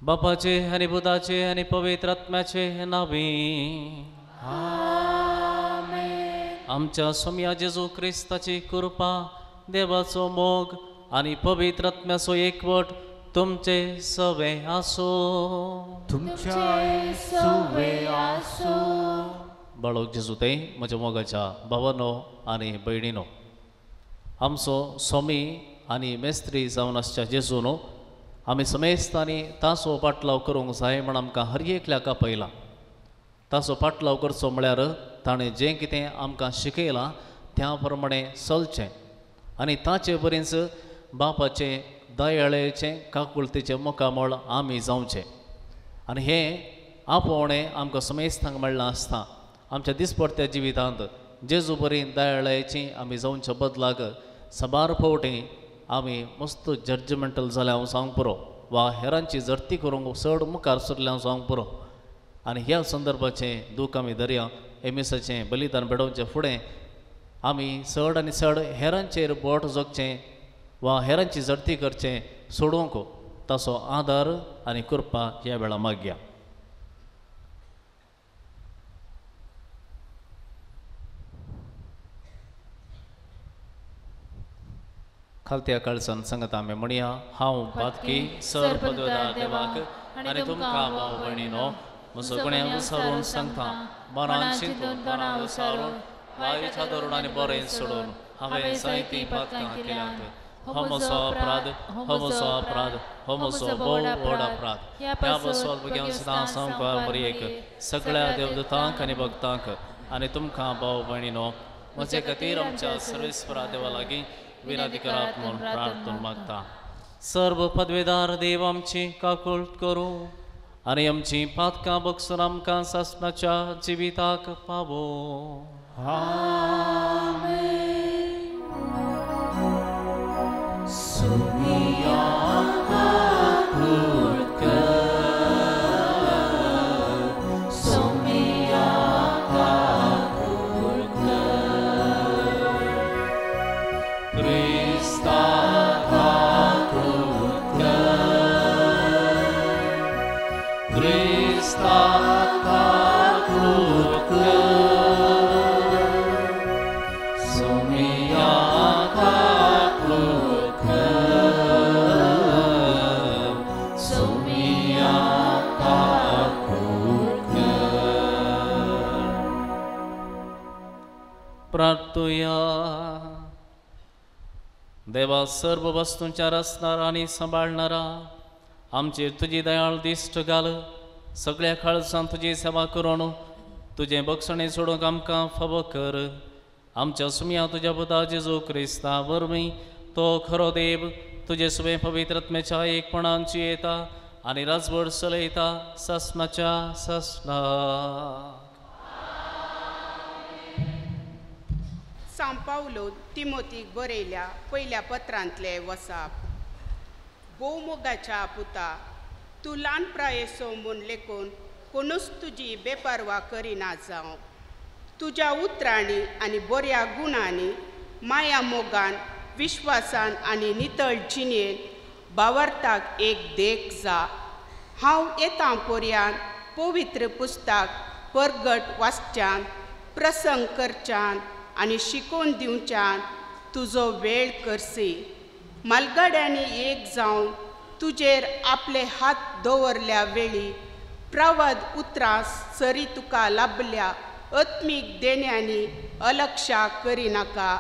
बापाचे आनी पुताचे आनी पवित्र आत्म्याचे नांवी आमेन। आमच्या सोम्या जेजू क्रिस्ताची कृपा, देवाचो मोग आनी पवित्र आत्म्याचो एकवट तुमचे सवे आसूं। तुमचे सवे आसूं। बाळक जेजू ते म्हज्या मोगाच्या भावानो आनी भयणीनो, आमचो स्वामी आनी मेस्त्री जावन आसच्या जेजू न्हू आमी समेस्तांनी ताचो पाटलाव करूंक जाय म्हण आमकां हर एकल्याक आपयला। ताचो पाटलाव करचो म्हळ्यार ताणें जें कितें आमकां शिकयलां त्या प्रमाणें चलचें आनी ताचे बरीच बापाचें दयाळेचें काकुळतेचें मुखामळ आमी जावचें। आनी हें आपोवणें आमकां समेस्तांक मेळ्ळां आसता। आमच्या दिसपडत्या जिवितांत जेजू बरी दयाळायेची आमी जावच्या बदलाक साबार फावटी आमी मस्त जजमेंटल जाल्या हांव सांगूंक पुरो वा हेरांची जडती करूंक चड मुखार सरल्या हांव सांगूंक पुरो। आनी ह्या संदर्भाचें दूख आमी दरया एमिसाचें बलिदान भेटोवचें फुडें आमी चड आनी चड हेरांचेर बोट जोगचें वा हेरांची जडती करचें सोडूंक ताचो आदार आनी कृपा ह्या वेळा मागया। खालत्या काळजान सांगता आमी म्हणया, हांव पातकी सर पदवेदार देवाक आनी तुमकां भाव भयणीनो म्हजो गुण्यांव विसरून सांगता, मनान चिंतून तणाव विसरून वायूच्या धरून आनी बरें सोडून हांवें जायतीं पातकां केल्यांत। हो म्हजो अपराध, हो म्हजो अपराध, हो म्हजो भोव व्हड अपराध। ह्या बसवत भुरग्यांक सदां सामकार मरयेक सगळ्या देवदूतांक आनी भक्तांक आनी तुमकां भाव भयणीनो म्हजे खातीर आमच्या सर्वेस्परा देवा लागीं विनंती करात म्हूण प्रार्थना मागता। सर्व पदवेदार देव आमची काकुळट करूं आनी आमची पातकां बगसून आमकां सासणाच्या जिविताक पावो। आमेन। सुमिया काकुळट कर, सुमिया काकुळट कर, क्रिस्ता काकुळट कर, क्रिस्ता काकुळट कर, सुमिया काकुळट कर, सुमिया काकुळट कर। प्रार्थुया। देवा सर्व वस्तूंच्या रचणारा आनी सांबाळणारा आमचेर तुजी दयाळ दिश्ट घाल। सगळ्या काळजान तुजी सेवा करून तुजें बक्षणें सोडूंक आमकां फावो कर। आमच्या सुमया तुज्या पुता जेजू क्रिस्ता वरवीं तो खरो देव तुजे सुवे पवित्र आत्म्याच्या एकपणान जियेता आनी राजवट चलयता सासणाच्या सासणाक। सांव पावलो तिमोतीक बरयल्या पयल्या पत्रांतले वसाप। भोवमोगाच्या पुता, तूं ल्हान प्रायेसो म्हूण लेखून कोणूच तुजी बेपर्वा करिना जावं। तुज्या उतरांनी आनी बऱ्या गुणांनी, माया मोगान, विश्वासान आनी नितळ जिणेन भावार्थाक एक देख जा। हांव येता पर्यान पवित्र पुस्तक परगट वाचच्यान, प्रसंग करच्यान आनी शिकोवन दिवच्यान तुजो वेळ करसी। मालगाड्यांनी एक जावन तुजेर आपले हात दवरल्या वेळी प्रवाद उतरां सरी तुका लाभल्या आत्मीक देण्यांनी अलक्षा करिनाका।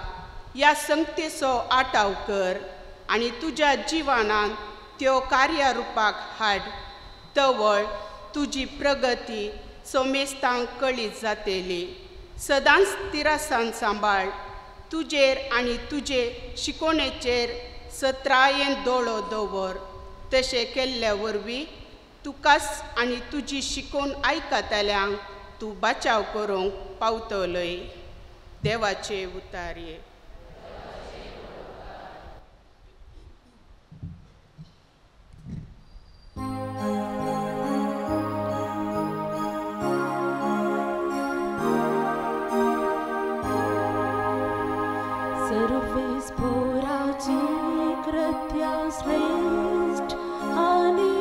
ह्या संगतेचो आटाव कर आनी तुज्या जिवनान त्यो कार्यारुपाक हाड। तवळ तुजी प्रगती सोमेस्तांक कळीत जातली। सदांच तिरासान सांबाळ। तुजेर आनी तुजे शिकोवणेचेर सत्रायेन दोळो दवर। तशें केल्ल्या वरवीं तुकाच आनी तुजी शिकोवन आयकतल्यांक तूं बचाव करूंक पावतलोय। देवाचे उतारये। सर्वेस्पोराची कृत्या श्रेष्ठ आणि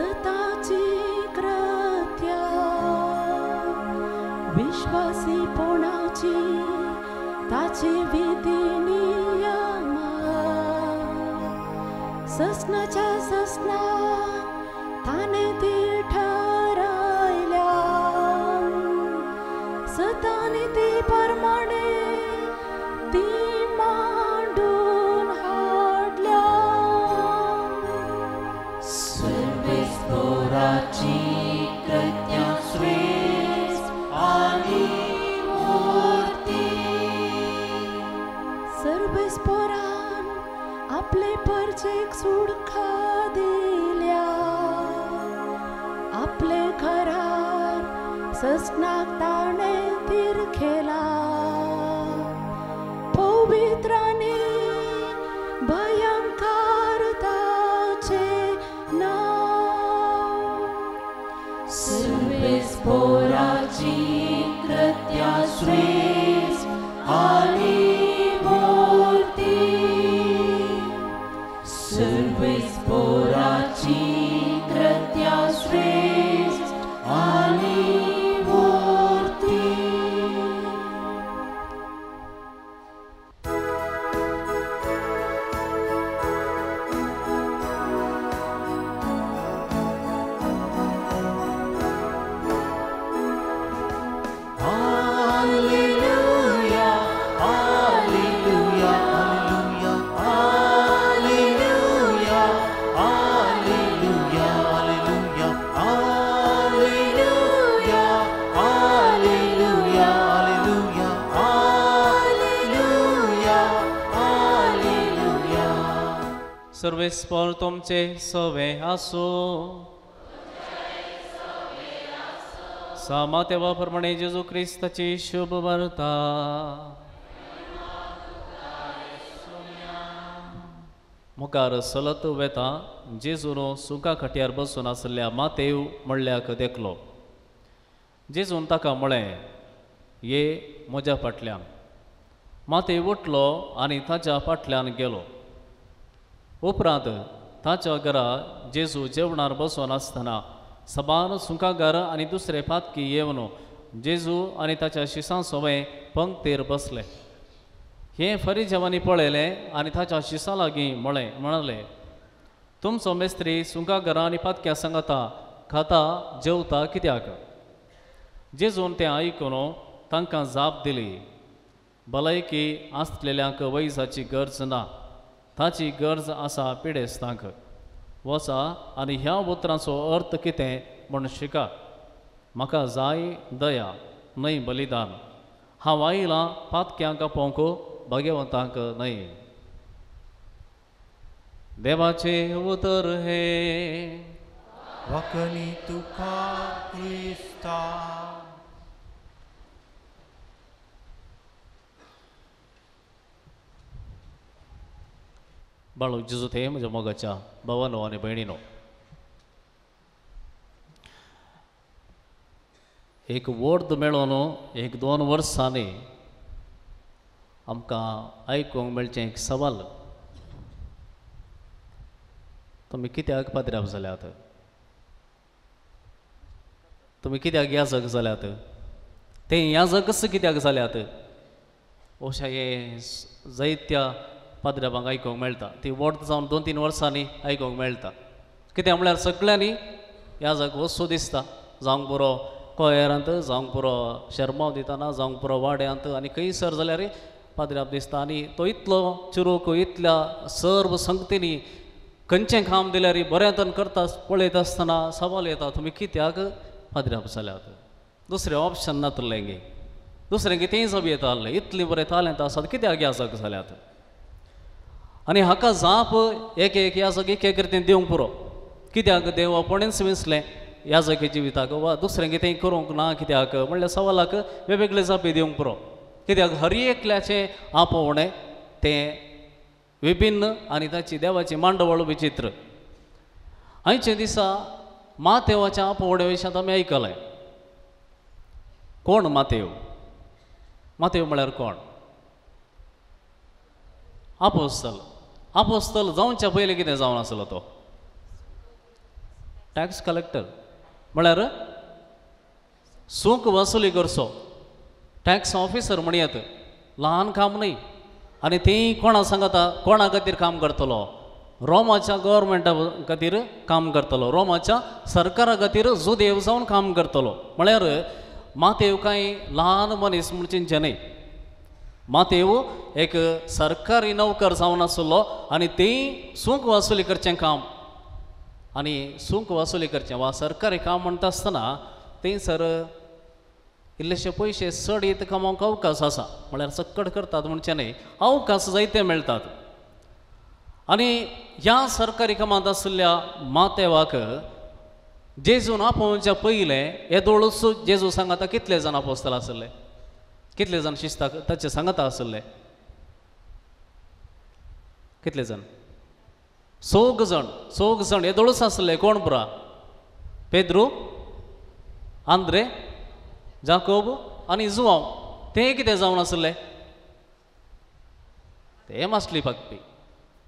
सताची कृत्या विश्वासीपणाची ताची विधी नियमा ससनाच्या ससना ताणे ती ठरायल्या सताने ती परमाणे ती मांडून हाडल्या. सर्वेस्पोराची कृत्या श्रेष्ठ आनी मूर्ती. सर्वेस्पोरान आपले परजेक सुडखा दिल्या आपले घरार ससनाक ताणे तिरखेला पवित्राने भयंकर ताचे नाव. सर्वेस्पोराची कृत्या श्रेष्ठ आनी मूर्ती. सर्वेस्पोराची कृत्या श्रेष्ठ आनी मूर्ती. Alleluia, alleluia, alleluia, alleluia, alleluia, alleluia, alleluia, alleluia, alleluia, alleluia. सर्वेस्पोर तुमचे सवे आसो. सामातेवा प्रमाणे जेजू क्रिस्ताची शुभ वार्ता. मुखार सलत वेता जेजून सुका खट्यार बसून आसल्या मातेव म्हणल्याक देखलो. जेजून ताका म्हळें, ये म्हज्या फाटल्यान. मातेव उठलो आनी ताच्या फाटल्यान गेलो. उपरांत ताच्या घरा जेजू जेवणार बसून आसतना सबार सुंकागार आनी दुसरे पातकी येवन जेजू आनी ताच्या शिसां सोवें पंक्तीर बसले. हें फरिजेवांनी पळयलें आनी ताच्या शिसां लागीं म्हळें, तुमचो मेस्त्री सुंकागारां आनी पातक्यां सांगता खाता जेवता कित्याक? जेजून तें आयकून तांकां जाप दिली, भलायकी आसलेल्यांक वैजाची गरज ना, ताची गरज आसा पिडेस्तांक. वचा आनी ह्या उतरांचो अर्थ कितें म्हूण शिका. म्हाका जाय दया न्हय बलिदान. हांव आयलां पातक्यांक आपोवंक, भाग्यवंतांक न्हय. देवाचें उतर हें. वखणी तुका क्रिस्ता. बाळू जेजू ते म्हज्या मोगाच्या भावानो आनी भयणीनो, एक वर्द मेळोन एक दोन वर्सांनी आमकां आयकूंक मेळचें एक सवाल, तुमी कित्याक पाद्र्याव जाल्यात? तुमी कित्याक याजक जाल्यात? ते याजकच कित्याक जाल्यात? अशें हें जायत्या पाद्र्यावांक आयकूंक मेळटा. ती वर्द जावन 2-3 वर्सांनी आयकूंक मेळटा. कित्याक म्हळ्यार सगळ्यांनी याजक वचूं दिसता, जावंक पुरो कोयरांत, जावंक पुरो शेरमांव दितना, जावंक पुरो वाड्यांत आनी खंयसर जाल्यार पाद्र्याव दिसता. आनी तो इतलो चिरूक, इतल्या सर्व संगतींनी खंयचें काम दिल्यार बऱ्यांतन करता पळयता आसतना सवाल येता, तुमी कित्याक पाद्र्याव जाल्यात? दुसरें ऑप्शन नातलें गे, दुसरें कितेंय जावं येता आहलें, इतलें बरें तालेंत आसात कित्याक याजक जाल्यात? आनी हाका जाप एक एक याजक एक एक रितीन दिवंक पुरो. कित्याक देव आपणेच विंचलें याजकी जिविताक वा दुसरें कितेंय करूंक ना कित्याक म्हणल्यार सवालाक वेगवेगळे जापी दिवंक पुरो. कित्याक हर एकल्याचें आपोवणें तें विभिन्न आनी ताची देवाची मांडवळ विचित्र. आयच्या दिसा मातेवाच्या आपोवण्या विशयांत आमी आयकलें. कोण मातेव? मातेव म्हळ्यार कोण? आपोस्तल. आपोस्तल जावच्या पयलीं कितें जावन आसलो तो? टॅक्स कलेक्टर म्हळ्यार सूंक वसुली करचो टॅक्स ऑफिसर म्हणयात. ल्हान काम न्हय. आनी ती कोणा सांगता, कोणा खातीर काम करतलो? रोमाच्या गव्हर्मेंटा खातीर काम करतलो, रोमाच्या सरकारा खातीर जुदेव जावन काम करतलो. म्हळ्यार मातेव कांय ल्हान मनीस म्हूण चिंतचें न्हय. मातेव एक सरकारी नोकर जावन आसलो आनी ती सूंक वसुली करचें काम. आनी सूंक वसुली करचें वा सरकारी काम म्हणटा आसतना थंयसर इल्लेशे पयशे चड येत कमोवंक अवकाश आसा. म्हळ्यार सक्कड करतात म्हणचें न्हय, अवकाश जायते मेळटात. आनी ह्या सरकारी कामांत आशिल्ल्या मातेवाक जेजून आपोवच्या पयलें येदोळूच जेजू सांगाता कितले जाण आपोस्ताल आशिल्ले, कितले जाण शिस्ताक ताचे सांगाता आशिल्ले, कितले जाण? चौग जाण. चौग जाण येदोळूच आशिल्ले. कोण पुरा? पेद्रू, आंद्रे, जाकोब आनी जुवांव. ते कितें जावन आशिल्ले? ते मासली पाकपी.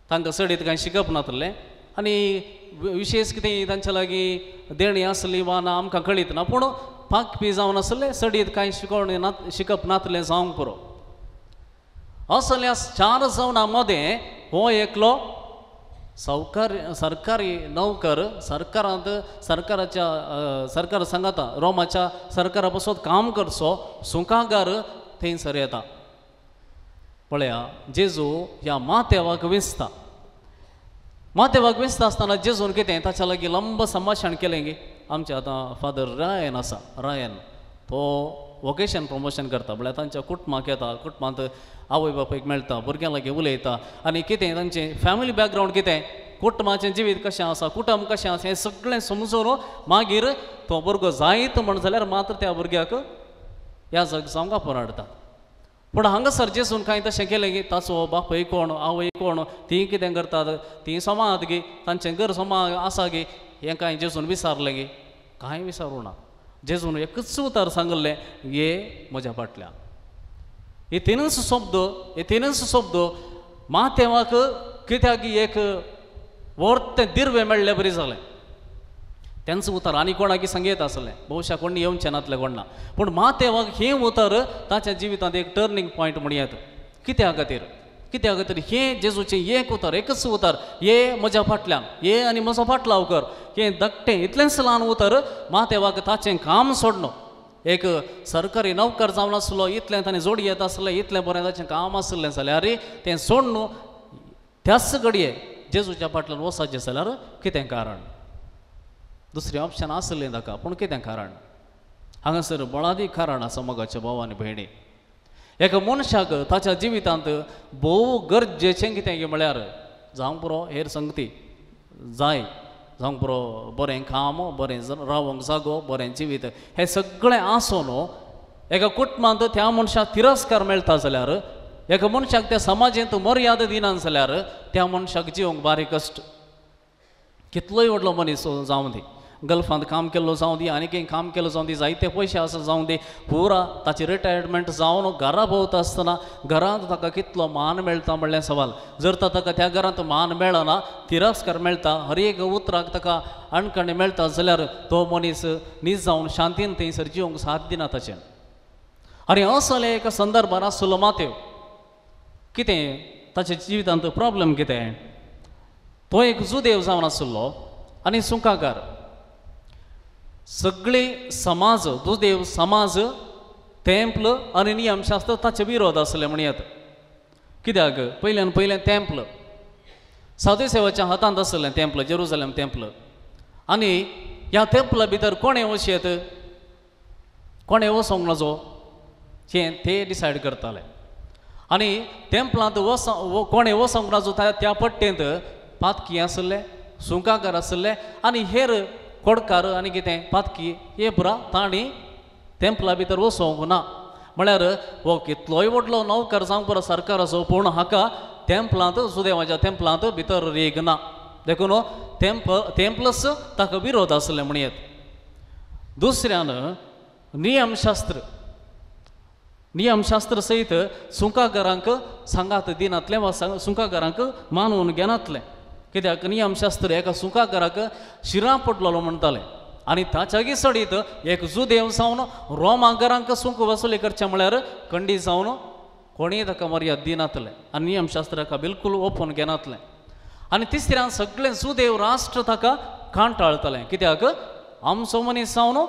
तांकां चडीत कांय शिकप नासलें आनी विशेश कितें तांच्या लागीं देणी आसली वा ना आमकां कळीत ना, पूण पाकपी जावन आसले, चडीत कांय शिकोवण ना, शिकप नासलें जावंक पुरो. असल्या चार जावना मदें हो एकलो सरकारी नोकर सरकारांत सरकाराच्या सरकार सांगाता रोमाच्या सरकारा पासत काम करचो सुंकागार थंयसर येता. पळया जेजू ह्या मातेवाक विसता. मातेवाक विसता आसतना जेजून कितें ताच्या लागीं लंब संभाशण केलें गी. आमचे आतां फादर रायन आसा, रायन तो वोकेशन प्रमोशन करता. म्हळ्यार तांच्या कुटुंबाक येता, कुटुंबांत आवय बापायक मेळटा, भुरग्यां लागीं उलयता आनी कितें तांचें फॅमिली बॅकग्रावंड कितें, कुटुंबाचें जिवीत कशें आसा, कुटुंब कशें आसा, हें सगळें समजून मागीर तो भुरगो जायत म्हण जाल्यार मात्र त्या भुरग्याक ह्या जग जावंक आपोवन हाडटा. पूण हांगासर जेजून कांय तशें केलें की ताचो बापूय कोण, आवय कोण, तीं कितें करतात, तीं सोमात गी, तांचें घर सोमा आसा गी, हें कांय जेजून विचारलें गी? कांय विचारूं ना. जेजून एकूच उतर सांगिल्लें, ये म्हज्या फाटल्यान. हे तिनूच शब्द, हे तिनूच शब्द मातेवाक कित्याक एक वर्तें दिर्वें मेळ्ळें बरी जालें. तेंच उतर आनी कोणाकी सांगयत आसलें, बहुशा कोण येवचें नातलें कोण ना, पूण मातेवाक हें उतर ताच्या जिवितांत एक टर्निंग पॉयंट म्हणयात. कित्या खातीर? कित्या खातीर हें जेजूचें एक उतर, एकच उतर, ये म्हज्या फाटल्यान, ये आनी म्हजो फाटलाव कर, हें धाकटें इतलेंच ल्हान उतर मातेवाक ताचें काम सोडनो. एक सरकारी नोकर जावन आसलो, इतलें ताणें जोडी येत आसलें, इतलें बरें ताचें काम आसलें जाल्यार तें सोडून त्याच घडये जेजूच्या फाटल्यान वचपाचें जाल्यार कितें कारण? दुसरें ऑप्शन आसलें ताका, पूण कितें कारण? हांगासर बळादी कारण आसा मोगाच्या भाव आनी भयणी. एका मनशाक ताच्या जिवितांत भोव गरजेचें कितें म्हळ्यार जावंक पुरो हेर संगती जाय, जावंक पुरो बरें काम, बरें रावंक जागो, बरें जिवीत, हें सगळें आसून एका कुटुंबांत त्या मनशाक तिरस्कार मेळटा जाल्यार, एका मनशाक त्या समाजांत मर्यादा दिना जाल्यार त्या मनशाक जिवंक बारीक कश्ट. कितलोय व्हडलो मनीस जावं दी, गल्फांत काम केल्लो जावं दी, आनी कितें काम केल्लो जावं दी, जायते पयशे आसा जावं दी, पुरा ताची रिटायरमेंट जावन घरा भोंवता आसतना घरांत ताका कितलो मान मेळटा म्हणलें सवाल. जर तर ताका त्या घरांत मान मेळना, तिरस्कार मेळटा, हर एक उतराक ताका अणकणी मेळटा जाल्यार तो मनीस नीज जावन शांतीन थंयसर जिवंक साथ दिना ताचें. आनी असले एका संदर्भार आसलो मातेव. कितें ताच्या जिवितांत प्रॉब्लम कितें? तो एक जुदेव जावन आसलो आनी सुंकाकार. सगळे समाज, दुदेव समाज, तेंपल आनी नियमशास्त्र ताचे विरोध आसले म्हणयात. कित्याक? पयल्यान पयलें तेंपल साधुसेवाच्या हातांत आसलें, तेंपल, जेरुजलेम तेंपल. आनी ह्या तेंपला भितर कोणें वचयेत, कोणें वचोंक नजो हें ते डिसायड करताले. आनी तेंपलांत वच कोणें वचोंक नजो त्या पट्टेंत पातकी आसले, सुंकाकार आसले आनी हेर कोडकार आनी कितें पातकी हे पुरा तांणी तेंपला भितर वचोंक ना. म्हळ्यार हो कितलोय व्हडलो नौकर जावंक पुरो सरकाराचो, पूण हाका तेंपलांत, सुदेवाच्या तेंपलांत भितर रेग ना. देखून तेंपलस ताका विरोध आसले म्हणयेत. दुसऱ्यान नियमशास्त्र, नियमशास्त्र सयत सुंकाकारांक सांगात दिनातलें वा सुंकाकारांक मानून घेनातलें. कित्याक नियमशास्त्र एका सुंकाकाराक शिरां पडलेलो म्हणटाले आनी ताच्यागी सडीत एक जुदेव जावन रोमागरांक सुंक वसुली करचें म्हळ्यार कंडी जावन कोणीय ताका मर्याद दिनातलें आनी नियमशास्त्राक बिलकूल ओपून घेनातलें. आनी तिसऱ्यान सगळें जुदेव राष्ट्र ताका कांटाळतलें कित्याक आमचो मनीस जावन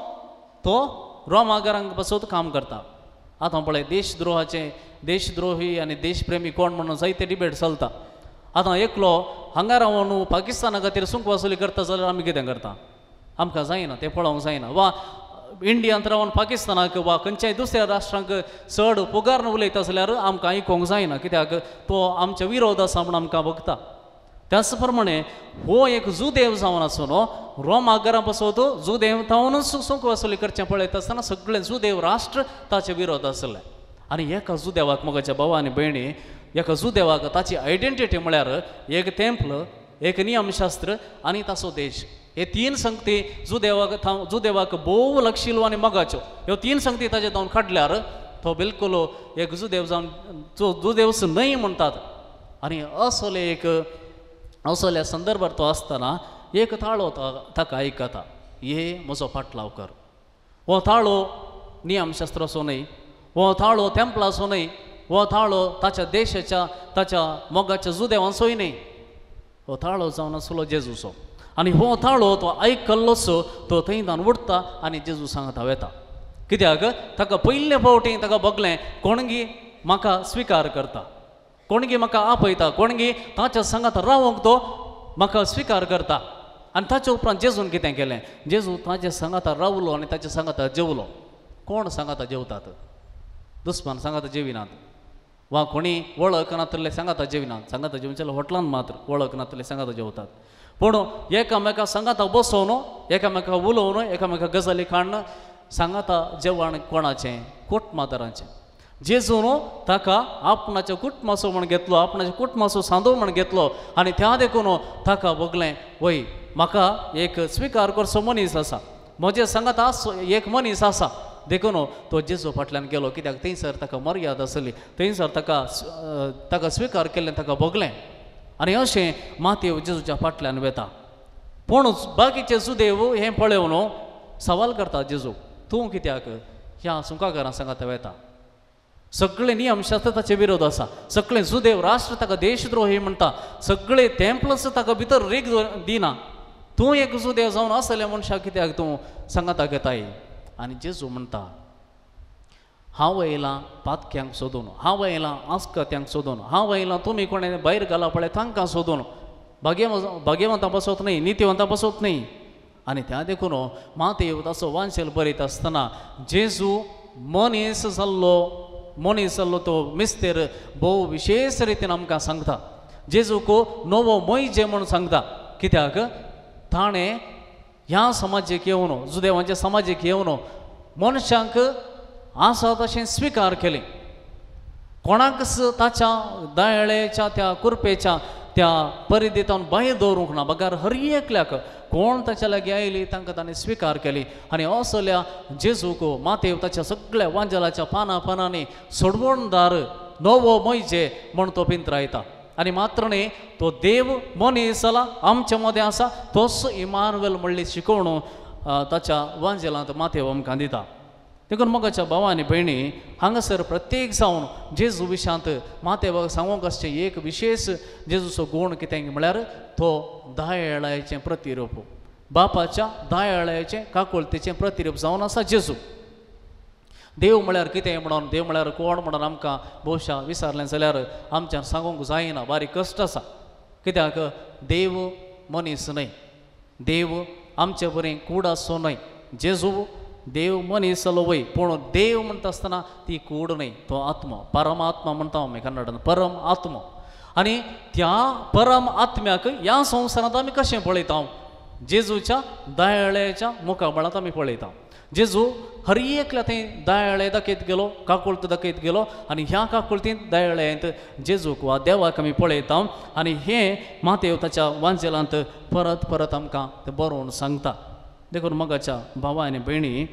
तो रोमागरांक बसोत काम करता. आतां पळय देशद्रोहाचें देशद्रोही आनी देशप्रेमी कोण म्हणून जायते डिबेट चलता. आतां एकलो हांगा रावन पाकिस्ताना खातीर सुंक वसुली करता जाल्यार आमी कितें करता? आमकां जायना, तें पळोवंक जायना. वा इंडियांत रावन पाकिस्तानाक वा खंयच्याय दुसऱ्या राष्ट्रांक चड पुगारून उलयता जाल्यार आमकां आयकूंक जायना कित्याक तो आमच्या विरोध आसा म्हूण आमकां भोगता. त्याच प्रमाणे हो एक जुदेव जावन आसून रोमागरां पासत जुदेव तावनूच सुंक वसुली करचें पळयता आसतना सगळें जुदेव राष्ट्र ताचे विरोध आसलें. आनी एका जुदेवाक म्हज्या भावा आनी भयणी एका जुदेवाक ताची आयडेंटिटी म्हळ्यार एक तेंपल, एक नियमशास्त्र आनी ताचो देश. हे तीन संगती जुदेवाक जुदेवाक भोव लक्षिल्लो आनी मोगाच्यो ह्यो तीन संगती ताचे जावन काडल्यार तो बिलकुल एक जुदेव जावन जुदेवच न्हय म्हणटात. आनी असले एक असल्या संदर्भार तो आसतना एक ताळो ताका आयकता, हे म्हजो फाटलाव कर. हो ताळो नियमशास्त्राचो न्हय, हो ताळो तेंपलाचो न्हय, हो ताळो ताच्या देशाच्या ताच्या मोगाच्या जुदेवांचोय न्हय, हो ताळो जावन आसलो जेजूचो. आनी हो ताळो तो आयकल्लोच तो थंय तान उठता आनी जेजू सांगता वेता कित्याक ताका पयले फावटी ताका भोगलें कोणगी म्हाका स्विकार करता, कोणगी म्हाका आपयता, कोणगी ताच्या सांगात रावंक तो म्हाका स्विकार करता. आनी ताच्या उपरांत जेजून कितें केलें? जेजू ताच्या सांगाता रावलो आनी ताच्या सांगाता जेवलो. कोण सांगाता जेवतात? दुस्मान सांगाता जेविनात वा कोणी वळख नातले सांगाता जेविनात. सांगाता जेवचे हॉटलान मात्र वळख नातले सांगाता जेवतात. पूण एकामेका सांगाता बसोवन एकामेका उलोवन एकामेका गजाली काडून सांगाता जेवण कोणाचें? कुटुंबादारांचें. जेजून ताका आपणाच्या कुटुंबाचो म्हण घेतलो, आपणाच्या कुटुंबाचो सांदो म्हण घेतलो आनी त्या देखून ताका भोगलें वय म्हाका एक स्विकार करचो मनीस आसा, म्हजे सांगाता एक मनीस आसा. देखून तो जेजू फाटल्यान गेलो कित्याक थंयसर ताका मर्याद आसली, थंयसर ताका ताका स्विकार केल्लें ताका भोगलें. आनी अशें मातेव जेजूच्या फाटल्यान वेता. पूण बाकीचे जुदेव हें पळोवन सवाल करता जेजू, तूं कित्याक ह्या सुंकाकारां सांगाता वेता? सगळे नियमशास्त्र ताचे विरोध आसा, सगळे जुदेव राष्ट्र ताका देशद्रोही म्हणटा, सगळे तेंपलस ताका भितर रीग दिना, तूं एक जुदेव जावन आसले मनशाक कित्याक तूं सांगाता घेताय? आनी जेजू म्हणटा, हांव येयलां पातक्यांक सोदून, हांव येयलां आस्कत्यांक सोदून, हांव येयलां तुमी कोणें भायर घाला पळय तांकां सोदून, भाग्यवंतां बसत न्हय, नितीवंतां बसत न्हय. आनी त्या देखून मातेव ताचो वांशेल बरयता आसतना जेजू मनीस जाल्लो, मनीस जाल्लो तो मिस्तेर भोव विशेश रितीन आमकां सांगता. जेजूक नवो मोयजे म्हूण सांगता कित्याक ताणें ह्या समाजेक येवन जुदेवांच्या समाजेक येवन मनशांक आसा तशें स्विकार केलें. कोणाकच ताच्या दयाळेच्या त्या कुरपेच्या त्या परिधींतल्यान भायर दवरूंक ना, बगर हर एकल्याक कोण ताच्या लागीं आयली तांकां ताणें स्विकार केली. आनी असल्या जेजूक मातेव ताच्या सगळ्या वांजेलाच्या पानां पानांनी सोडवणदार नवो मोयजे म्हण तो पिंत्रायता. आनी मात्र न्ही तो देव मनीस जाला आमच्या मदें आसा तोच इमानुएल म्हणली शिकोवण ताच्या वांजेलांत मातेव आमकां दिता. देखून मोगाच्या भावा आनी भयणी हांगासर प्रत्येक जावन जेजू विशांत मातेवाक सांगूंक आसचें एक विशेश जेजूचो गूण कितें म्हळ्यार तो दयाळायेचें प्रतिरूप, बापाच्या दयाळायेचें काकुळतेचें प्रतिरूप जावन आसा जेजू. देव म्हळ्यार कितें म्हणून, देव म्हळ्यार कोण म्हणून आमकां भोवशा विचारलें जाल्यार आमच्यान सांगूंक जायना, बारीक कश्ट आसा. कित्याक देव मनीस न्हय, देव आमचे बरी कूड आसचो न्हय. जेजू देव मनीस जालो वय, पूण देव म्हणटा आसतना ती कूड न्हय, तो आत्मो, परमात्मा म्हणटा आमी कन्नडान, परम आत्मो. आनी त्या परम आत्म्याक ह्या संवसारांत आमी कशें पळयता? जेजूच्या दयाळेच्या मुखामळांत आमी पळयता. जेजू हर एकल्या थंय दयाळे दाखयत गेलो, काकुळत दाखयत गेलो आनी ह्या काकुळतींत दयाळेंत जेजूक वा देवाक आमी पळयता. आनी हें मातेव ताच्या वांजेलांत परत परत आमकां तें बरोवन सांगता. देखून मोगाच्या भावा आनी भयणी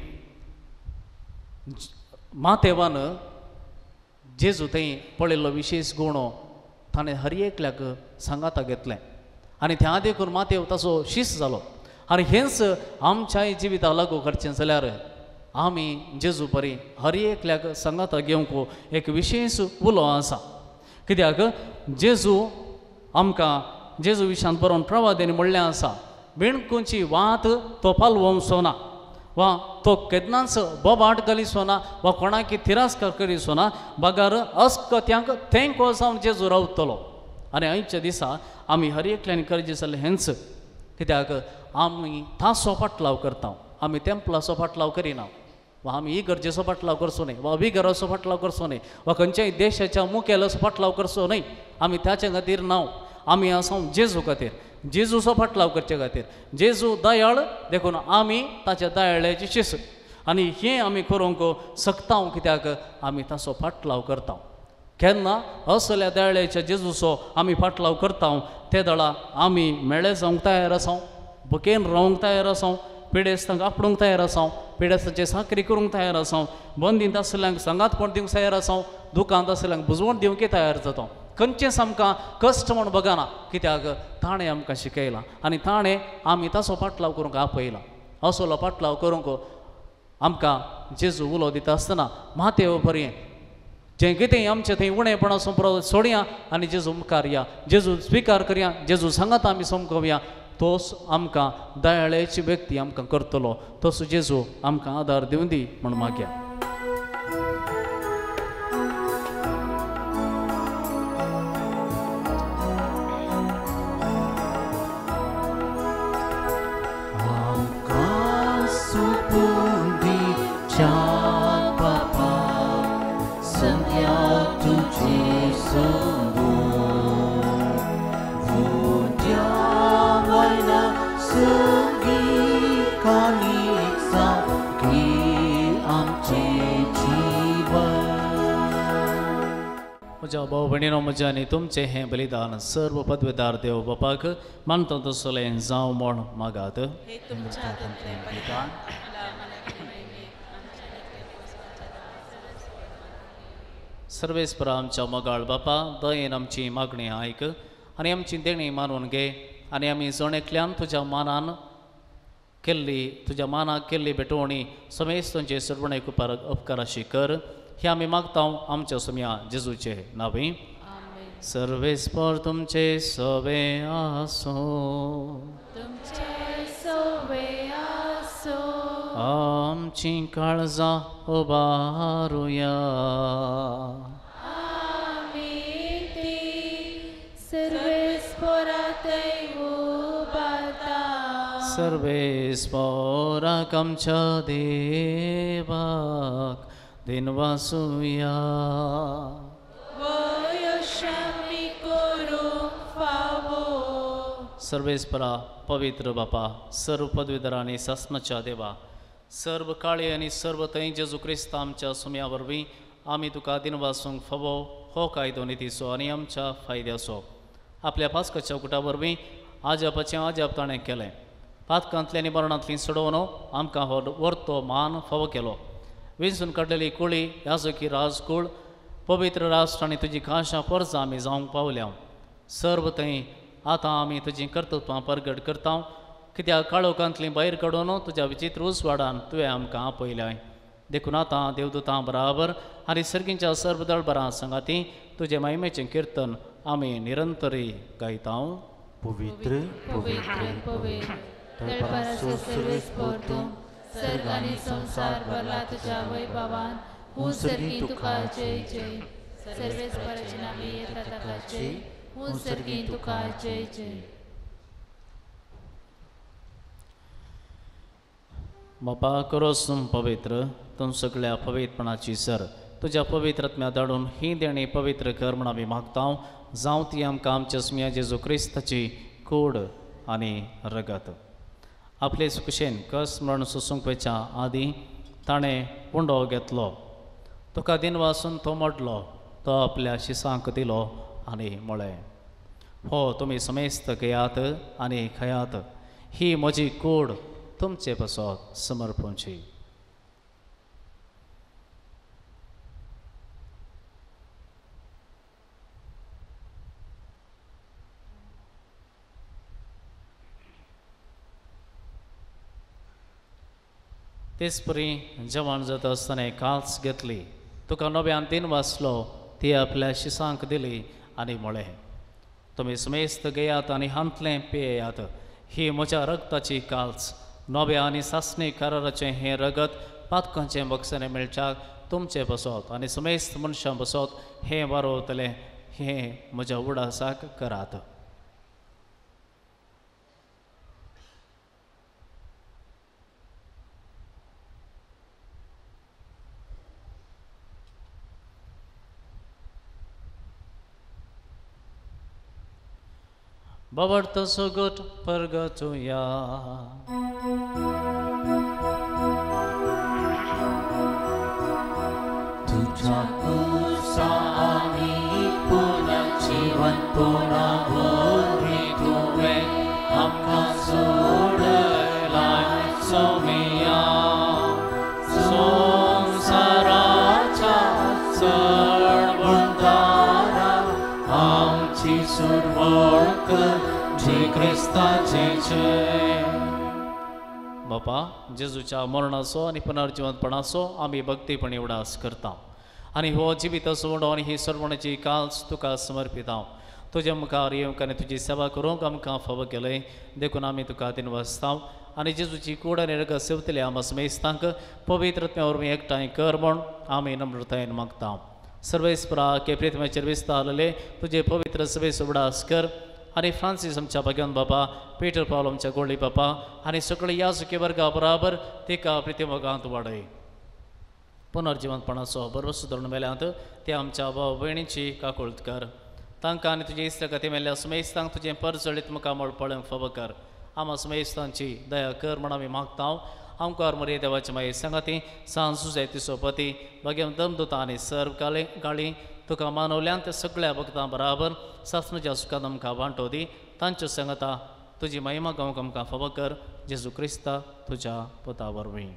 मातेवान जेजू थंय पळयल्लो विशेश गुण ताणें हर एकल्याक सांगाता घेतलें. आनी त्या देखून मातेव ताचो शीस जालो. आनी हेंच आमच्याय जिविताक लागू करचें जाल्यार आमी जेजू परी हर एकल्याक सांगाता घेवंक एक विशेश उलो आसा. कित्याक जेजू आमकां जेजू विशांत बरोवन प्रवादेन म्हणलें आसा, बेणकुंची वात तो पालवचो ना वा तो केन्नाच बोबाट घालिचो ना वा कोणाकी तिरस्कार करिचो ना, बगर अस्कत्यांक तेंको जावन जेजू रावतलो. आनी आयच्या दिसा आमी हर एकल्यान करचें जालें हेंच, कित्याक आमी ताचो फाटलाव करता, आमी तेंपलाचो फाटलाव करिना वा आमी इगर्जेचो फाटलाव करचो न्हय वा विगराचो फाटलाव करचो न्हय वा खंयच्याय देशाच्या मुखेलाचो फाटलाव करचो न्हय. आमी ताचे खातीर ना, आमी आसा जेजू खातीर, जेजूचो फाटलाव करचे खातीर. जेजू दयाळ देखून आमी ताच्या दयाळ्याची शिस्त आनी हें आमी करूंक शकता, कित्याक आमी ताचो फाटलाव करता. केन्ना असल्या दयाळ्याच्या जेजूचो आमी फाटलाव करता ते दळा आमी मेळे जावंक तयार आसा, भुकेन रावंक तयार आसा, पिडेस्तांक आपडूंक तयार आसा, पिडेस्तांचे साकरी करूंक तयार आसा, बंदींत आसल्यांक सांगातपण दिवंक तयार आसा, दुकांत आसल्यांक बुजवण दिवंक तयार जाता. खंयचेंच आमकां कश्ट म्हूण बगना, कित्याक ताणें आमकां शिकयलां आनी ताणें आमी ताचो फाटलाव करूंक आपयला. असलो फाटलाव करूंक आमकां जेजू उलो दिता आसतना मातेव बरें जें कितें आमचें थंय उणेपणां सोडया आनी जेजू मुखार या, जेजू स्विकार करया, जेजू सांगात आमी समकोवया, तोच आमकां दयाळ्याची व्यक्ती आमकां करतलो. तसो जेजू आमकां आदार दिवं दी म्हूण मागया. म्हज्या भाव भयणीनो, म्हज्या आनी तुमचें हें बलिदान सर्व पदवेदार देव बापाक मानता तसलें जावं म्हूण मागात. सर्वेस्परा आमच्या मोगाळ बापा, दयेन आमची मागणी आयक आनी आमची देणी मानून घे आनी आमी जण एकल्यान तुज्या मानान केल्ली तुज्या मानाक केल्ली भेटवणी समेस्तंचे सर्वणेक उपकाराशी कर. हे आमी मागता आमच्या सोम्या जेजूचे नांवी. सर्वेस्पर तुमचे सवे आसूं, आमची काळजां उबारुया. सर्वेस्पराक आमच्या देवाक दिनवासुया. सर्वेस्परा पवित्र बापा, सर्व पदवीधर आनी सासणाच्या देवा, सर्व काळी आनी सर्व थंय जेजू क्रिस्त आमच्या सुम्या वरवीं आमी तुका दिनवासूंक फावो हो कायदो नितीचो आनी आमच्या फायद्याचो. आपल्या पास्काच्या कुटा वरवीं आजापाचें आजाप ताणें केलें, पातकांतली आनी मरणांतली सोडोवन आमकां हो वर्तो मान फावो केलो. विंचून काडलेली कुळी याजकी राजकूळ पवित्र राष्ट्र आनी तुजी खाशा परजा आमी जावंक पावल्या. सर्व थंय आतां आमी तुजीं कर्तृत्वां परगट करता, कित्याक काळोखांतली भायर काडून तुज्या विचित्र उजवाडान तुवें आमकां आपयल्याय. देखून आतां देवदूतां बराबर आनी सर्गींच्या सर्व दळबरां सांगाती तुजें महिमेचें किर्तन आमी निरंतरी गायता. पवित्र पवित्र पवित्र सर्ग आनी संवसार भरला तुज्या वैभवान. हूं सर्गी तुका जय जय. सर्वेस्पराचे नांवे येता ताका जय. हूं सर्गी तुका जय जय. बापा करोस तूं पवित्र, तूं सगळ्या पवित्रपणाची सर. तुज्या पवित्र आत्म्या धाडून ही देणी पवित्र कर म्हूण आमी मागता. जावं ती आमकां आमच्या सुम्या जेजू क्रिस्ताची कूड आनी रगत. आपले सुकुशेन कस म्हण सोसूंक वयच्या आदीं ताणें पुंडो घेतलो, तुका दिनवासून तो मोडलो, तो आपल्या शिसांक दिलो आनी म्हळें, हो तुमी समेस्त घेयात आनी खायात, ही म्हजी कूड तुमचे पासत समर्पणची. तेच परी जेवण जाता आसतना काल्स घेतली, तुका नव्यान तीन वाचलो, ती आपल्या शिसांक दिली आनी म्हळें, तुमी समेस्त घेयात आनी हांतलें पियेयात, ही म्हज्या रगताची काल्स, नव्या आनी सासणी कराराचें हें रगत पातकांचें बक्षणें मेळच्याक तुमचें बसत आनी समेस्त मनशां बसत हें वारवतलें, हें म्हज्या उडासाक करात. बाबर्त सुगट परगटुया. तुझ्या कुसा आमी पुनः जीवन पुनः वरवीं तुवें आमकां सोडलाय सोमिया. संवसाराच्या चढवणदारा आमची सुरवण कर जे क्रिस्ताचे जय. बापा, जेजूच्या मरणाचो आनी पुनर्जिवंतपणाचो आमी भक्तीपणी उडास करता आनी हो जिवीत सोडो आनी ही सर्वणाची काल्स तुका समर्पिता. तुज्या मुखार येवंक आनी तुजी सेवा करूंक आमकां फावो केलें देखून आमी तुका दिनवासता आनी जेजूची कूड आनी रगत सेवतले आमकां समेस्तांक पवित्र आत्म्या वरवीं एकठांय कर म्हूण आमी नम्रतायेन मागता. सर्वेस्परा के प्रितमेचेर विस्तारलेले तुजे पवित्र सभेचो उडास कर आनी फ्रांसीस आमच्या भाग्यवंत बाबा, पीटर पावल आमच्या गोल्डी बाबा आनी सगळे याजकी वर्गा बराबर तिका प्रितिमोगांत वाडय. पुनर्जिवंतपणाचो बरोबर धरून मेल्यांत ते आमच्या भाव भयणीची काकुळट कर. तांकां आनी तुजे इश्ट कथे मेल्ल्या समेस्तांक तुजें परजळीत मुखामळ पळोवंक फावो कर. आमा समेस्तांची दया कर म्हूण आमी मागता. आमकार मरे देवाचे मागीर सांगाती सांज सुजाय तिसोपती भाग्यवंत दमदुता आनी सर्व काळे गाळी तुका मानवल्यान त्या सगळ्या भक्तां बराबर सासणाच्या सुखान आमकां वांटो दी. तांच्यो सांगाता तुजी महिमा गावंक आमकां फावो कर. जेजू क्रिस्ता तुज्या पुता वरवीं.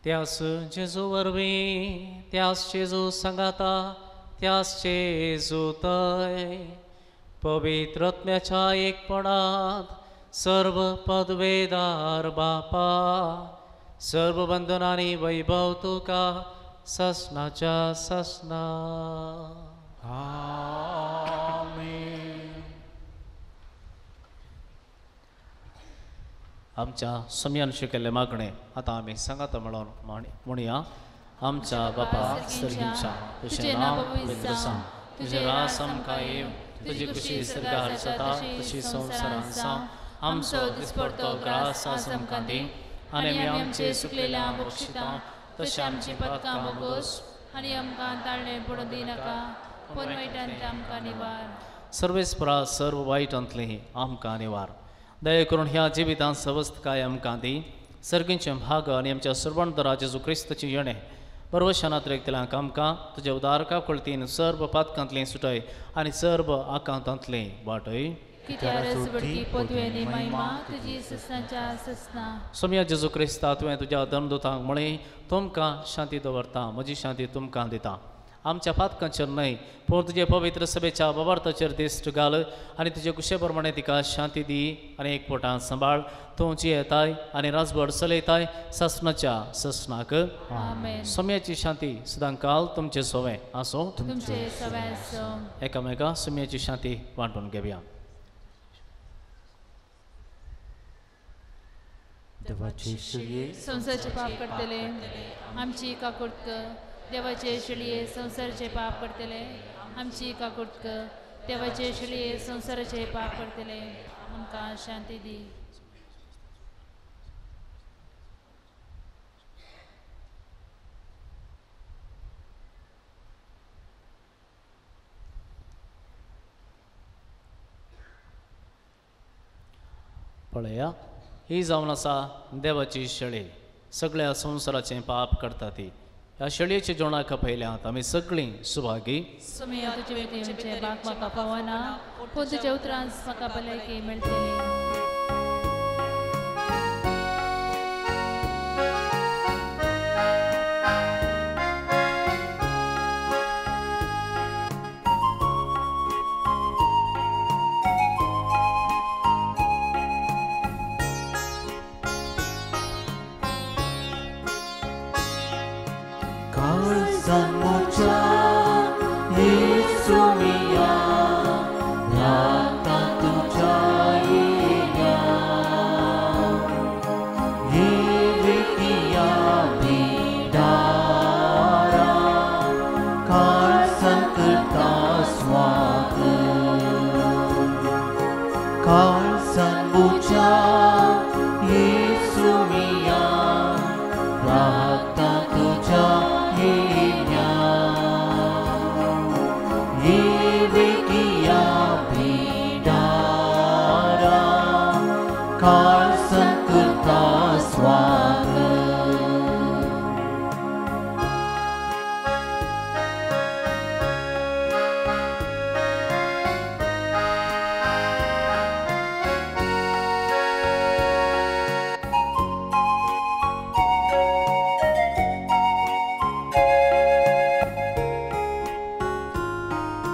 त्यास जेजू वरवीं, त्यास जेजू सांगाता, त्यास जेजू तय पवित्र आत्म्याच्या एकपणांत सर्व पदवेदार बापा, सर्व बंधनांनी वैभव तुका ससनाच्या ससना. आमेन. आमच्या सम्यान शिकयल्लें मागणें आतां आमी सांगाता म्हणून म्हणया. आमच्या बापा सर्गींच्या, तुजें नांव पवित्र जावं, तुजें रास आमकां येवं, तुजी खुशी सर्गार जाता तशी संवसारांत जावं. आमचो दिसपडतो ग्रास आज आमकां दी आनी आमी आमचे सुकलेल्या बक्षिता तशें आमची पातकां बोगोस आनी आमकां ताळणें पडूं दिनाका, पूण वायटांतलें आमकां निवार. सर्वेस्परा सर्व वायटांतलें आमकां निवार. दया करून ह्या जिवितांत सवस्तकाय आमकां दी. सर्गींचे भाग आनी आमच्या सर्वणदरा जेजू क्रिस्ताची येणें परवशानात रेखतल्यांक आमकां तुज्या उदार काकुळतीन सर्व पातकांतलें सुटय आनी सर्व आकांतांतलें वाटय. सोम्या जेजू क्रिस्ता, तुवें तुज्या धर्मदूतांक म्हळें, तुमकां शांती दवरता, म्हजी शांती तुमकां दिता. आमच्या पातकांचेर न्हय पूण तुजे पवित्र सभेच्या बाबार्थाचेर दिश्ट घाल आनी तुजे कुशे प्रमाणे तिका शांती दी आनी एकवटान सांबाळ. तूं जियेताय आनी राजभर चलयताय सासणाच्या ससनाक. सोम्याची शांती सदांकाल तुमचे सोवें आसूं. एकामेका सोम्याची शांती वांटून घेवया. संवसाराचे पाप करतले आमची काकुळट कर. देवाचे शेळये संवसाराचे पाप करतले आमची काकुळट कर. देवाचे शेळये संवसाराचे पाप करतले आमकां शांती दी. पळया, ही जावन आसा देवाची शेळी, सगळ्या संवसाराचें पाप करता ती. ह्या शेळयेच्या जेवणाक खपयल्यात आमी सगळीं सुभागी. सोम्या, तुजे तुमचे बाग म्हाका पावना, पूण तुज्या उतरान म्हाका भलायकी मेळटली. काळसांच्या येसुमिया लागता तुझ्या येण्या येविकिया भिडारा काळसां करता स्वागत काळसांच्या येसुमिया लागता तुझ्या येण्या येविकिया भिडारा काळसां करता स्वागत.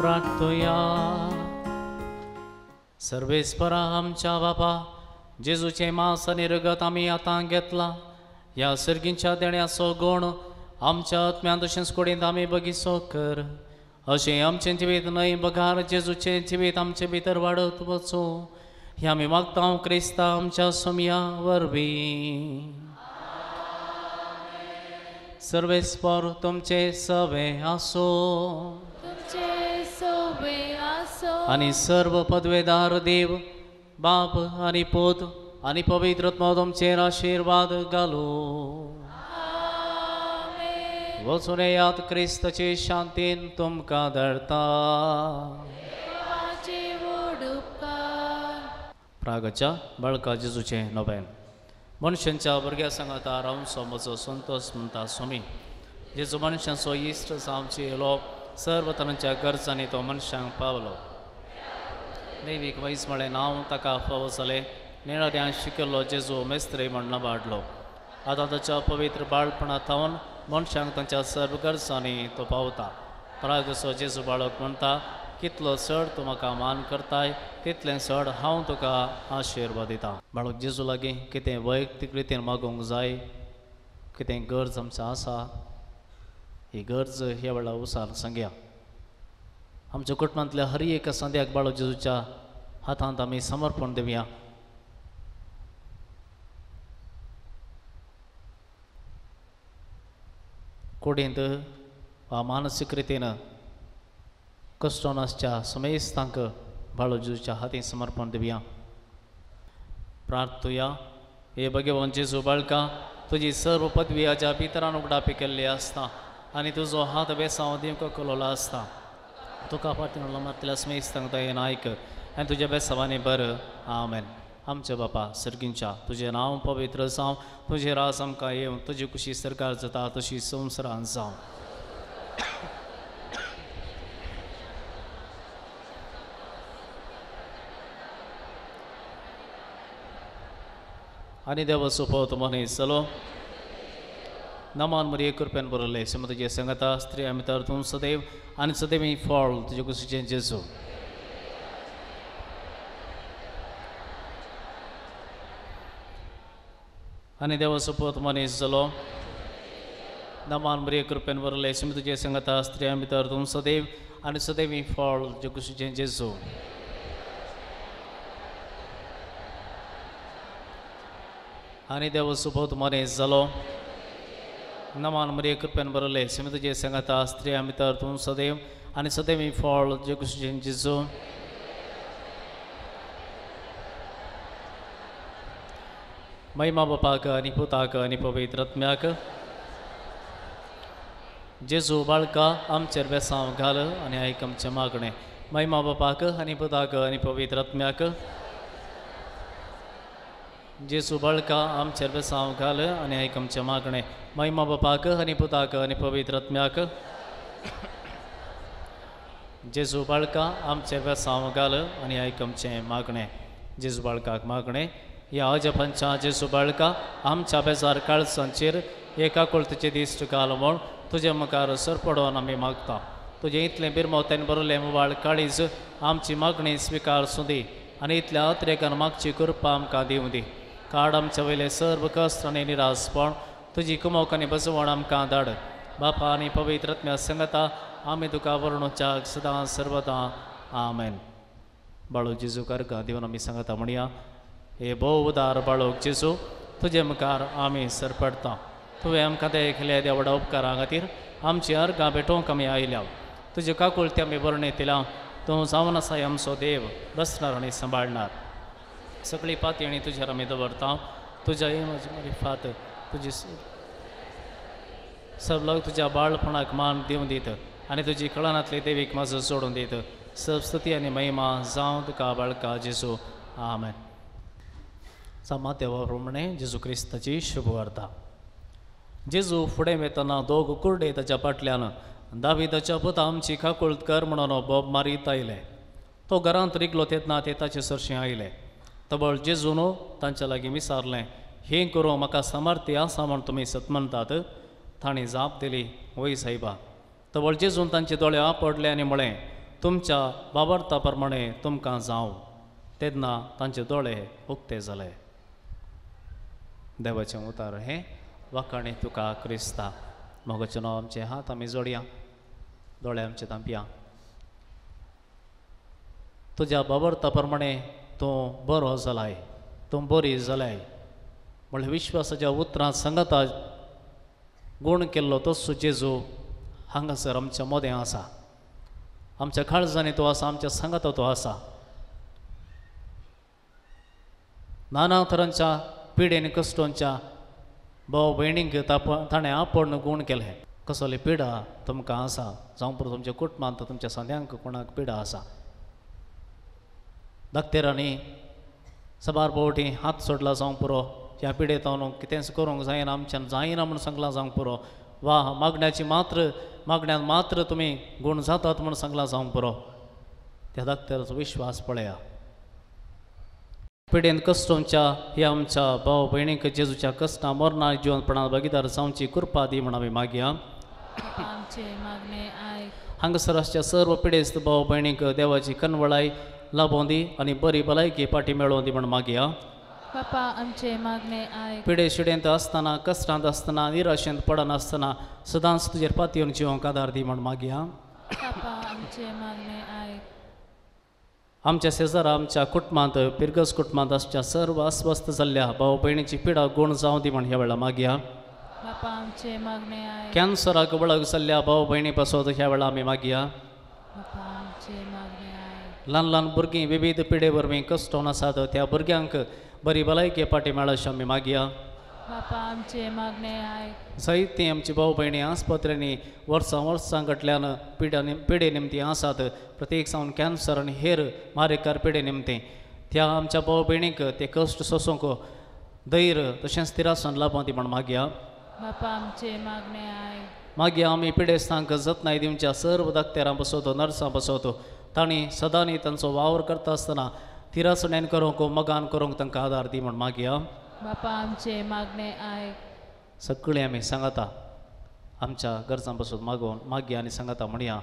प्रार्थुया. सर्वेस्परा आमच्या बापा जेजूचें मांस आनी रगत आमी आतां घेतलां. ह्या सर्गींच्या देण्याचो गूण आमच्या आत्म्यांत तशेंच कुडींत आमी बगीचो कर, अशें आमचें जिवीत न्हय बगार जेजूचें जिवीत आमचे भितर वाडत वचूं. हें आमी मागता क्रिस्ता आमच्या सोमया वरवीं. सर्वेस्पर तुमचे सवे आसो आनी सर्व पदवेदार देव बाप आनी पूत आनी पवित्र आत्मो तुमचेर आशिर्वाद घालू. वचून येयात क्रिस्ताचे शांतीन तुमकां धाडटा. प्रागच्या बाळका जेजूचें नोवेन. मनशांच्या भुरग्या सांगाता रावचो म्हजो संतोष म्हणटा स्वामी. जेजू मनशांचो इश्ट जावचे येयलो, सर्व तरांच्या गरजांनी तो मनशांक पावलो. देवीक वैज म्हळें नांव ताका फावो जालें. निळाऱ्यान शिकिल्लो जेजू मेस्त्री म्हण वाडलो. आतां ताच्या पवित्र बाळपणा थावन मनशांक तांच्या सर्व गरजांनी तो पावता. परागसो जेजू बाळक म्हणटा, कितलो चड तूं म्हाका मान करताय तितलें चड हांव तुका आशिर्वाद दिता. बाळक जेजू लागीं कितें वैयक्तीक रितीन मागूंक जाय, कितें गरज आमची आसा, ही गरज ह्या वेळार उसार सांगया. आमच्या कुटुंबांतल्या हर एका संद्याक बाळक जेजूच्या हातांत आमी समर्पण दिवया. कुडींत वा मानसीक रितीन कश्टोन आसच्या समेस्तांक बाळक जेजूच्या हातीन समर्पण दिवया. प्रार्थुया. हे भगवान जेजू बाळका, तुजी सर्व पदवी हाज्या भितरान उगडापी केल्ली आसता आनी तुजो हात बेसांव दिवंक कलोलो आसता. तुका फाटीं मातल्या समेस्तांक दयेन आयक आनी तुज्या बेसांवांनी बरं. आमेन. आमच्या बापा सर्गींच्या, तुजें नांव पवित्र जावं, तुजें राज आमकां येवं, तुजी कुशी सरकार जाता तशी संवसारांत जावं. आनी देवाचो पोत मनीस जालो. नमान मरिये कृपेन बरयलें, श्रीमती तुजे संगता स्त्री भितर तूं सदैव आनी सदैव फळ तुजे कुशीचें जेजू. आनी देवाचो पोत मनीस जालो. नमान मरिये कृपेन बरयलें, श्रीमती तुजे संगता स्त्री भितर तूं सदैव आनी सदैव फळ तुजे कुशीचें जेजू. आनी देवाचो पोत मनीस जालो. नमान मरिये कृपेन बरयलें, श्रीमती तुजे संगता स्त्री भितर तूं सदैव आनी सदैव फळ तुजे कुशीचें जेजू. महिमा बापाक आनी पुताक आनी पवित्र आत्म्याक. जेजू बाळका आमचेर बेसांव घाल आनी आयक आमचें मागणें. महिमा बापाक आनी पुताक आनी पवित्र आत्म्याक. जेजू बाळका आमचेर बेसांव घाल आनी आयक आमचें मागणें. महिमा बापाक आनी पुताक आनी पवित्र आत्म्याक. जेजू बाळका आमचेर बेसांव घाल आनी आयक आमचें मागणें. जेजू बाळकाक मागणें. ह्या अजपांच्या जेजू बाळका आमच्या बेजार काळजांचेर एका कुळतीचे दिश्ट घाल म्हूण तुजे मुखार सरपडोवन आमी मागता. तुजें इतलें बिरमोत्यान बरयलें मुवाळ काळीज आमची मागणी स्विकार सुदी आनी इतल्या अत्रेकान मागची कृपा आमकां दिवं दी. काड आमच्या वयले सर्व कश्ट आनी निरासपण, तुजी कुमोक आनी बसवण आमकां धाड. बापा आनी पवित्र आत्म्या संगता आमी तुका वर्णोच्याक सदां सर्वदा आमेन. बाळू जेजू अर्घां दिवन आमी सांगता म्हणया, हे भोव उदार बाळूक जेजू, तुजे मुखार आमी सरपडटा. तुवें आमकां देखले त्या व्हडा उपकारां खातीर आमची अर्घां भेटोवंक आमी आयल्या. तुजे काकुळते आमी बरणेतल्या. तूं जावन आसा आमचो देव, रचणार आनी सांबाळणार. सगळी पातयेणी तुजेर आमी दवरता. तुज्या म्हजी मारिफात तुजी सब लोक तुज्या बाळपणाक मान दिवन दीत आनी तुजी कळनांतली देवीक म्हजो सोडून दीत. सब स्तुती आनी महिमा जावं तुका बाळका जेजू. आमेन. सामा देवा प्रमाणे जेजू क्रिस्ताची शुभवार्ता. जेजू फुडें वेतना दोग कुर्डे ताच्या फाटल्यान दाविदाच्या पुता आमची काकुळट कर म्हणून बोब मारीत आयले. तो घरांत रिगलो तेन्ना ते ताचे सरशीं आयले. तबळ जेजून तांच्या लागीं विचारलें, हें करूं म्हाका सामर्थ्य आसा म्हूण तुमी सत म्हणटात? तांणी जाप दिली, वय सायबा. तबळ जेजून तांचे दोळे आपडले आनी म्हळें, तुमच्या बाबर्ता प्रमाणे तुमकां जावं. तेन्ना तांचे दोळे उक्ते जाले. देवाचें उतार हें वाखाणे तुका क्रिस्ता. मोगाचें नांव आमचे हात आमी जोडया, दोळे आमचे धांपया. तुज्या बाबर्ता प्रमाणे तूं बरो जालाय, तूं बरी जालाय म्हणल्यार विश्वासाच्या उतरां सांगता गूण केल्लो तोच जेजू हांगासर आमच्या मोदें आसा. आमच्या काळजांनी तो आसा, आमच्या सांगाता तो आसा. नाना तरांच्या पिडेन कश्टांच्या भाव भयणींक ताणें आपण गूण केलें. कसली पिडा तुमकां आसा, जावं पुरो तुमच्या कुटुंबांत तुमच्या सांद्यांक कोणाक पिडा आसा. दाक्तेरांनी साबार फावटी हात सोडला जावं पुरो, ह्या पिडेंत कितेंच करूंक जायना, आमच्यान जायना म्हूण सांगलां जावंक पुरो, वा मागण्याची मात्र मागण्यान मात्र तुमी गूण जातात म्हूण सांगलां जावंक पुरो. त्या दाक्तेराचो विश्वास पळया. पिडेन कश्टांच्या ह्या आमच्या भाव भयणींक जेजूच्या कश्टां मरणां जिवनपणांत भागीदार जावची कृपा दी म्हूण आमी मागया. हांगासर आसच्या सर्व पिडेस्त भाव भयणींक देवाची कनवळाय लाभोवन दी आनी बरी भलायकी पाटी मेळोवन दी म्हूण मागया. बापा आमचे मागणे आयक. पिडे शिडेंत आसतना, कश्टांत आसतना, निराशेंत पडनासतना सदांच तुजेर पातयेवन जिवंक आदार दी म्हूण मागया. बापा आमचे मागणे आयक. आमच्या शेजारा आमच्या कुटुंबांत पिरगस कुटुंबांत आसच्या सर्व अस्वस्थ जाल्ल्या भाव भयणीची पिडा गूण जावं दी म्हूण ह्या वेळार मागया. बापा आमचे मागणे आयक. कॅन्सराक वळख जाल्ल्या भाव भयणी पासत ह्या वेळार आमी मागया. बापा आमचे मागणे आयक. ल्हान ल्हान भुरगीं विविध पिडे वरवीं कश्टोन आसात त्या भुरग्यांक बरी भलायकी पाटी मेळशी आमी मागया. बापा आमचे मागणे आयक. जायतीं आमची भाव भयणी आस्पत्र्यांनी वर्सां वर्सां फाटल्यान पिडे निमतीं आसात, प्रत्येक सावन कॅन्सर आनी हेर मारेकार पिडे निमतीं. त्या आमच्या भाव भयणींक ते कश्ट सोसूंक धैर्य तशेंच तिरासन लाभोवं दी म्हूण मागया. बापा आमचे मागणे आयक. मागीर आमी पिडेस्तांक जतनाय दिवच्या सर्व दाक्तेरां बसवतो, नर्सां बसवतो, तांणी सदांनी तांचो वावर करता आसतना तिरासणेन करूंक मगान करूंक तांकां आदार दी म्हूण मागया. बापा आमचे मागणे आयक. सगळीं आमी सांगता आमच्या गरजां पासून मागोवन मागया आनी सांगता म्हणया,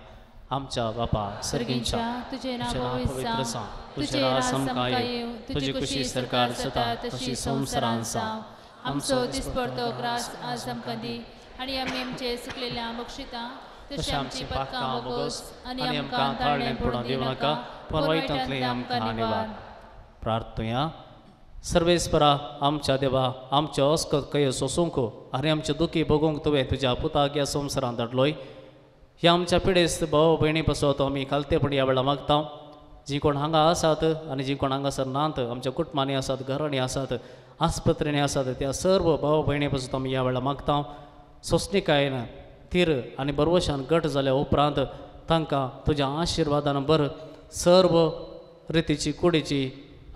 आमच्या बापा सर्गींच्या, तुजें नांव पवित्र जावं, तुजें राज आमकां येवं, तुजी खुशी सरकार जाता तशी संवसारांत जावं. आमचो दिसपडतो ग्रास आज आमकां दी आनी आमी आमचे सुकलेल्या बक्षिता तशें आमची पातकां बोगोस आनी आमकां ताळणें पडून दिवं नाका, पूण वायटांतलें आमकां निवार. प्रार्थुया. सर्वेस्परा आमच्या देवा, आमच्या अस्कत कय सोसूंक आनी आमचे दुखी भोगूंक तुवें तुज्या पुताक ह्या संवसारांत धाडलोय. ह्या आमच्या पिडेस्त भाव भयणी पासत आमी खालतेपणी ह्या वेळार मागता. जीं कोण हांगा आसात आनी जीं कोण हांगासर नात, आमच्या कुटुंबांनी आसात, घरांनी आसात, आस्पत्रेंनी आसात, त्या सर्व भाव भयणी पासत आमी ह्या वेळार मागता. सोंसणीकायेन तीर आनी बरवशान घट जाल्या उपरांत तांकां तुज्या आशिर्वादान बर सर्व रितीची कुडीची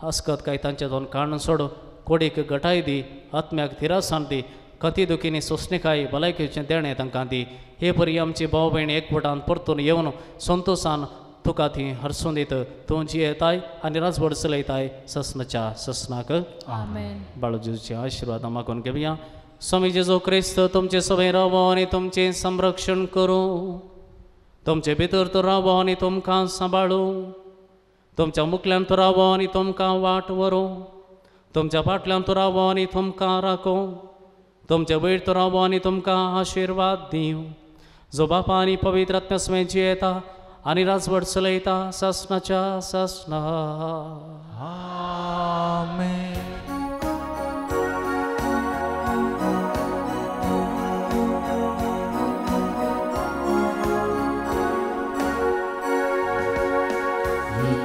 अस्कत काय तांच्या दोन काडून सोड, कोडीक घटाय दी, आत्म्याक थिरासाण दी, कती दुखीनी सोंसणीकाय भलायकेचें देणें तांकां दी. हे परी आमची भाव भयणी एकवटान परतून येवन संतोशान तुका ती हरसून दीत. तूं जियेताय आनी राजवड चलयताय ससनाच्या ससनाक. आमेन. बाळू जेजूचे आशिर्वाद मागून घेवया. स्वामी जेजू क्रिस्त तुमचे सवय रावो आनी तुमचें संरक्षण करूं, तुमचे भितर तो रावो आनी तुमकां सांबाळूं, तुमच्या मुखल्यान तो रावो आनी तुमकां वाट व्हरूं, तुमच्या फाटल्यान तो रावो आनी तुमकां राखूं, तुमचे वयर तो रावो आनी तुमकां आशिर्वाद दिवं. जो बापा आनी पवित्र आत्म्या समेत जियेता आनी राजवट चलयता सासणाच्या सासणा. आमेन.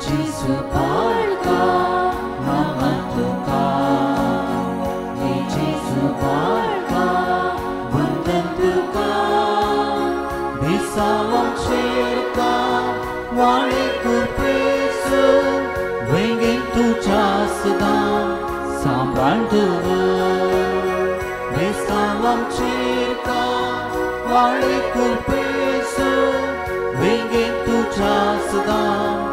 जेजू बाळका नमन तुका, हे जेजू बाळका वंदन तुका, बेसावांक शेरका वाळे कुरपेसू वेंगेन तुज्या सदां सांबाळ दवर, बेसावांक शेरका वाळे कुरपेसू वेंगेन तुज्या सदां